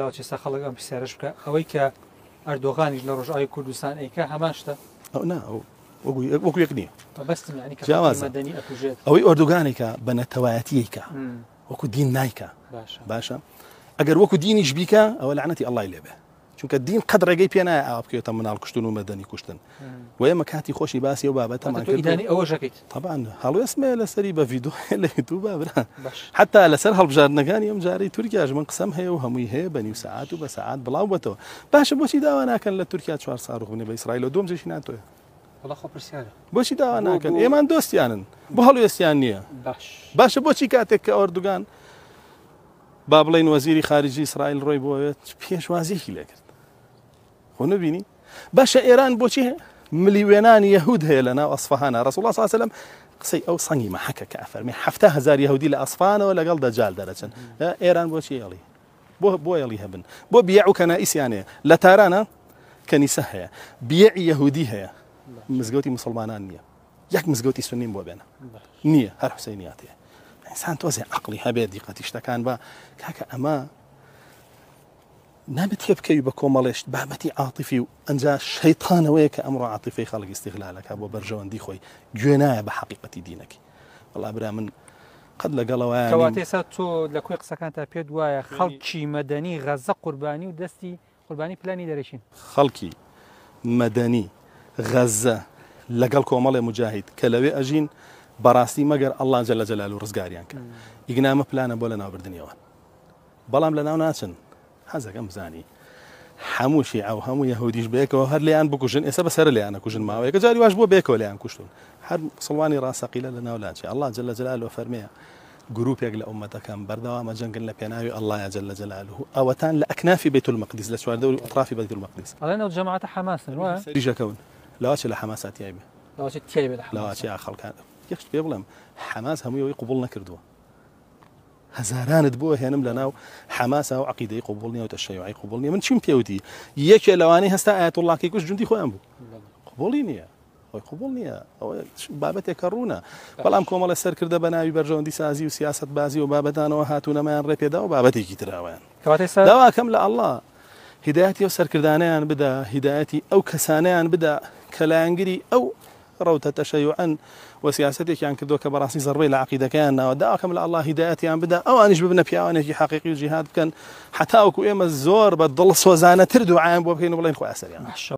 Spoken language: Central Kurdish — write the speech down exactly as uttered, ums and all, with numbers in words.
لاوچێ سا خەڵک ئەم پرسیارەش بکە، ئەوەی کە ئەردۆغانیش لە ڕۆژئاوای کوردستان ئەیکا هەمان شتە؟ ئەو نا، ئەو وەکو یەک نییە. مەبەستم یعنی کە جیاوازە. مەدەنی ئەکوژێت. ئەوەی ئۆردوگانێکە بە نەتەوایەتیەکە وەکو دین نایکە. باشە. باشە ئەگەر وەکو دینیش بیکە ئەوە لەعنەتی ئەڵڵای لێبێ، چونکە دین قەت ڕێگەی پێ نایە ئاوا بکەوێتە مناڵ کوشتن و مەدەنی کوشتن. و ئێمە کاتی خۆشی باسی ئەو بابەتەمان تۆ کردو. ئیدانی ئەوە ژەکەیت. طبعا هەڵوێستمە لەسەری بە ڤیدیۆ لە یوتیوب برا. باش. حتا لەسەر هەڵبژاردنەکانی ئەم جارەی تورکیاش من قسەم هەیە و هەمووی هەیە بە نیو سەعات و بە سەعات بڵاو بەتەوە. باشە بۆچی داوا ناکەن لە تورکیا چوار ساروخ بنێ بە ئیسرائیل و دوم جێشی ناتۆیە؟ وەڵا خۆ پرسیارە. بۆچی داوا بۆ- ناکەن؟ بۆ- ئێمان دۆستیانن، بۆ هەڵوێستیان نییە. باش. باشە بۆچی کاتێک کە ئۆردوگان با بڵێین وەزیری خارجی ئیسرائیل ڕۆی بۆوێت پێشوازیەکی لێکرد؟ خۆ نبینی؟ باشە ئێران بۆچی ملیوێنانی یەهود هەیە لە ناو ئەسفەهانە؟ ڕەسوڵ الله صلی الله علیه وسلم قسەی ئەو سەنگی مەحەکە کە ئەفەرمێ حەفتا هەزار یەهودی لە ئەسفەهانەوە لەگەڵ دەجال دەرەچن. ئێران بۆچی ئێڵی؟ بۆ بۆ ئێڵی هەبن؟ بۆ بیع و کەنائیسیان هەیە لە تارانە، کەنیسە هەیە، بیعی یەهودی هەیە، مزگەوتی مسلمانان نییە، یەک مزگەوتی سنیم بۆ بێنە نییە، هەر حوسەینیات هەیە. ئینسان تۆزێ عەقڵی هەبێت دیقەتی شتەکان بە کاکە ئەمە نابێت تێ بکەوی بە کۆمەڵێشت بابەتی عاتیفی و ئەنجا شەیطانەوەیە کە ئەمڕۆ عاتیفەی خەڵک ئیستیغلالەکە بۆ بەرژەوەندی خۆی، گوێ نایە بە حەقیقەتی دینەکەی. وەڵا برا من قەت لەگەڵەوەیان نیم. کەواتە ئێستا تۆ لە کۆی قسەکان تا پێت وایە خەڵکی مەدەنی غەزە قوربانی و دەستی قوربانی پلانی دەرەکین. خەڵکی مەدەنی غەزە لەگەڵ کۆمەڵێ مجاهید کە لەوێ ئەژین بەڕاستی مەگەر ئەڵڵا جەلە جەلالو ڕزگاریان کرد. ئیگنامە پلانە بۆ لەناوبردنیەوە، بەڵام لەناو ناچن. حەزەکەم بزانی هەموو شیعە و هەموو یەهودیش بەیەکەوە هەر لێیان بکوژن، ئێستا بەسەر لێیان نەکوژن ماوەیەکە جاری واش بووە بەیەکەوە لێیان کوشتون. هەر مسلمانی ڕاستەقیلە لەناو لاچێ. ئەڵڵا جەلە جەلالو فەرمێ گروپێک لە ئومەتەکەم بەردەوامە جەنگن لە پێناوی ئەڵڵایە جەلە جەلالوه، ئەوەتان لە ئەکنافی بەیت المەقدس، لە چواردەوری ئەطرافی بەیت المەقدس. ئەڵێن ئەو جەماعەتە حەماسن، وایە؟ سەریژەکەون. لەواچێ لە حەماسا تیای بێ. لەواچێ تیای بێ لە حەماسا. لەواچێ خەڵکان. یەک شت پێ بڵێم، حەماس هەمووی ئەوەی قبوڵ نەکردووە. هەزارانت بۆ هێنم لە ناو حەماسا و عەقیدەی قبوڵ نییە و تەشەیوعی قبوڵ نییە. من چیم پێوتی؟ یەکێ لەوانەی هەستا ئایەتوڵڵاکەی کوشت جوندی خۆیان بوو. قبوڵی نییە، خۆی قبوڵ نییە. ئەوە بابەتێکە ڕوونە. بەڵام کۆمەڵە سەرکردە بە ناوی بەرژەوەندی سازی و سیاسەت بازی و بابەتانەوە هاتوونەمایان ڕێپێدا و بابەتێکی تراوەیان. کەواتە ئێستا داواکەم لە ئەڵڵا هیدایەتی ئەو سەرکردانەیان بدا، هیدایەتی ئەو کەسانەیان بدا کە لایەنگری ئەو ڕەوتە تەشەیوعەن و سیاسەتێکیان کردووە کە بەڕاستی زەربەی لە عەقیدەکەیان ناوە. داواکەم لە ئەڵڵا هیدایەتیان بدا، ئەوانیش ببنە پیاوانێکی حەقیقی و جیهاد بکەن، حتا وەکو ئێمە زۆر بە دڵسۆزانەتر دوعایان بۆ بکەین و بڵێن خۆی ئەسەریان. باشە.